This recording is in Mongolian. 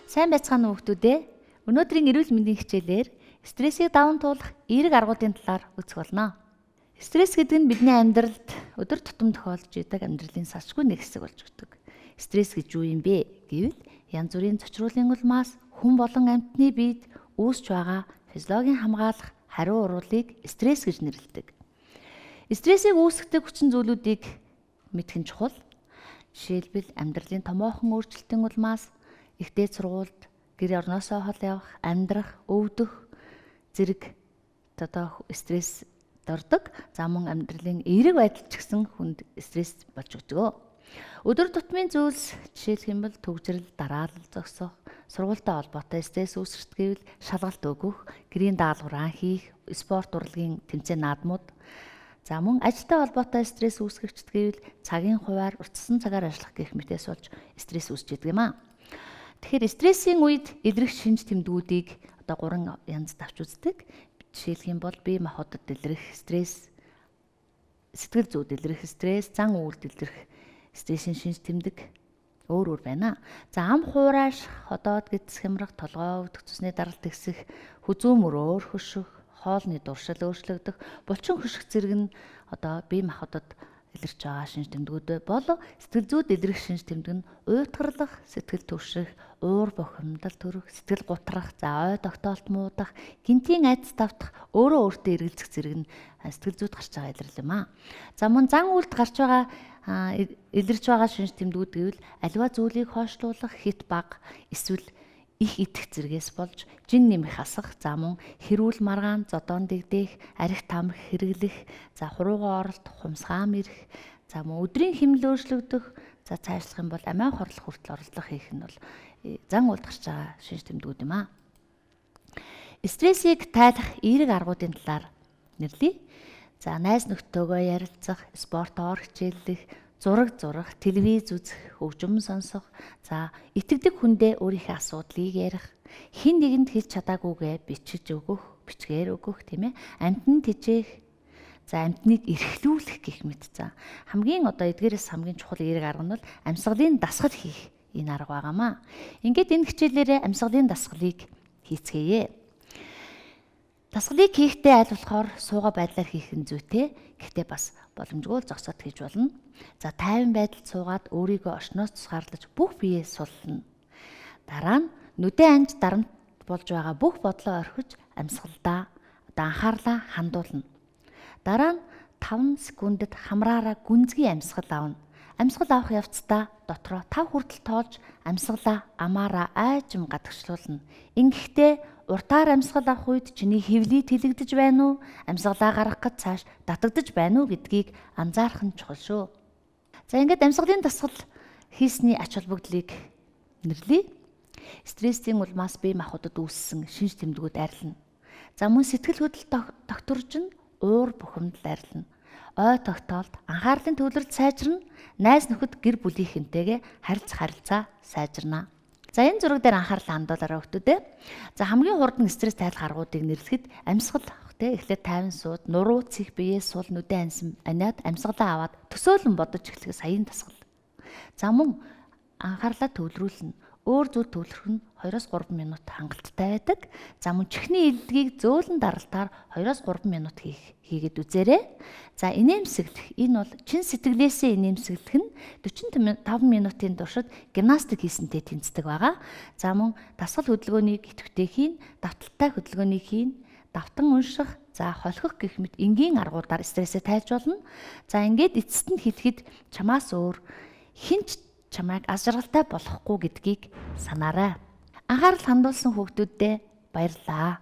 Сайн байцгаана уу хүүхдүүдээ. Өнөөдрийн эрүүл мэндийн хичээлээр стрессийг даван туулах эерэг аргуудын талаар үзэх болно. Стресс гэдэг нь бидний амьдралд өдөр тутам тохиолдож идэг амьдралын салшгүй нэг хэсэг болж өгдөг. Стресс гэж юу юм бэ гэвэл янз бүрийн зочруулын улмаас хүн болон амьтны биед үүсч байгаа физиологийн хамгаалах хариу урвалыг стресс гэж нэрлэдэг. Стрессийг үүсгэдэг хүчин зүйлүүдийг мэдэх нь чухал. Жишээлбэл амьдралын томоохон өөрчлөлтийн улмаас ихтэй сургуульд гэр орноосоо хол явах, амьдрах, өвдөх зэрэг стресс дордог. За мөн амьдралын эерэг байдал ч гэсэн хүнд стресс болж өгдөг. Өдөр тутмын зүйлс жишээлх юм бол төгжрөл, дараалал зогсох, сургуультай холбоотой стресс үүсгэж гэвэл шалгалт өгөх, гэрийн даалгавраа хийх, спорт урлагийн тэмцээн наадмууд. За мөн ажилтай холбоотой стресс үүсгэгчд гэвэл цагийн хуваар уртсан цагаар ажиллах гэх мэтээс болж стресс үүсч идэг юм аа. Тэгэхээр стрессийн үед илрэх шинж тэмдгүүдийг 3 янзд авч үздэг. Жишээлх юм бол бие махбодод илрэх стресс, сэтгэл зүйд илрэх стресс, зан үйлд илрэх стрессийн шинж тэмдэг өөр байна. За ам хуурайш, ходоод гидс хямрах, толгой өвдөх, цусны даралт ихсэх, хүзүү мөрөөр хөшөх, хоолны дуршил өөрчлөгдөх, булчин хөших зэрэг нь бие махбодод илэрч байгаа шинж тэмдгүүд бол сэтгэл зүйд илрэх шинж тэмдэг нь уйтгарлах, сэтгэл түвших, уур бухимдал төрөх, сэтгэл гутрах, за ой тогтоолт муудах, гинтийн айдас давтах, өөрөө өөртөө эргэлзэх зэрэг нь сэтгэл зүйд гарч байгаа илэрлэл юм аа. За мөн зан үйлд гарч байгаа илэрч байгаа шинж тэмдгүүд гэвэл аливаа зүйлийг хойшлуулах, хит баг, эсвэл их идэх зэргээс болж жин нэмэх асах, за мөн хэрүүл маргаан, зодоон дэгдэх, арх тамхи хэрэглэх, за хурууган оролт, хумсгаам ирэх, за мөн өдрийн хэмнэл өөрчлөгдөх, за цаашлах юм бол амиа хорлох хүртэл оролдлого хийх нь бол зан үйлд гарч байгаа шинж тэмдгүүд юм аа. Стрессийг тайлах эерэг аргуудын талаар нэрлэе. За найз нөхдөөгөө ярилцах, спортоор хичээллэх, зураг зурах, телевиз үзэх, хөгжим сонсох, за итгэдэг хүндээ өөрийнхөө асуудлыг ярих, хэн нэгэнд хэлж чадаагүйгээ бичиж өгөх, бичгээр өгөх, тийм ээ. Амьтанд тижээх, за амьтныг эрхлүүлэх гэх мэт. За хамгийн эдгээрээс хамгийн чухал эерэг арга нь бол амьсгалын дасгал хийх энэ арга байгаамаа. Ингээд энэ хичээлээрээ амьсгалын дасгалыг хийцгээе. Дасгалыг хийхдээ аль болохоор суугаа байдлаар хийх нь зүйтэй. Гэхдээ бас боломжгүй зогсоод хийж болно. За тайван байдалд суугаад өөрийгөө орчноос тусгаарлаж бүх биеэ суллана. Дараа нь нүдэн анж дарамт болж байгаа бүх бодлоо орхиж амьсгалдаа анхаарлаа хандуулна. Дараа нь 5 секундэд хамраараа гүнзгий амьсгал авна. Амьсгал авах явцдаа дотроо 5 хүртэл тоолж амьсгалаа амаараа айжм гадагшлуулна. Ингэхдээ уртаар амьсгал авах үед чиний хэвлий тэлэгдэж байна уу? Амьсгалаа гаргах гэж цааш татагдаж байна уу гэдгийг анзаарах нь чухал шүү. За ингээд амьсгалын дасгал хийсний ач холбогдлыг нэрлэе. Стрессийн улмаас бие махбодод үүссэн шинж тэмдгүүд арилна. За мөн сэтгэл хөдлөл тогтворж нь уур бухимдал арилна. Ой тогтоолт, анхаарлын төвлөрөлт сайжирна. Найз нөхөд гэр бүлийнхэнтэйгээ харилцаа сайжирна. За энэ зураг дээр анхаарлаа хандуулаарай хүүхдүүдээ. За хамгийн хурдан стресс тайлах аргуудыг нэрлэхэд амьсгал авах те эхлээд тайван сууд, нуруу цэх биеэ сул нүдэн ансан аниад амьсгалаа аваад төсөөлөн бодож эхлэх саяын дасгал. За мөн анхаарлаа төвлөрүүлнэ. Өөр зүйл төвлөрөх нь 2-3 минут хангалттай байдаг. За мөн чихний илдгийг зөөлөн даралтаар 2-3 минут хийгээд үзээрэй. За инээмсэглэх энэ бол чин сэтгэлээсээ инээмсэглэх нь 45 минутын туршид гимнастик хийсэнтэй тэнцдэг байгаа. За мөн дасгал хөдөлгөөнийг идэвхтэй хийн, давталтай хөдөлгөөнийг хийн, давтан унших, за холхих гэх мэт энгийн аргуудаар стрессээ тайлж болно. За ингээд эцэст нь хэлэхэд чамаас өөр хинч чамайг аз жаргалтай болохгүй гэдгийг санаарай. Анхаарал хандуулсан хүүхдүүддээ баярлалаа.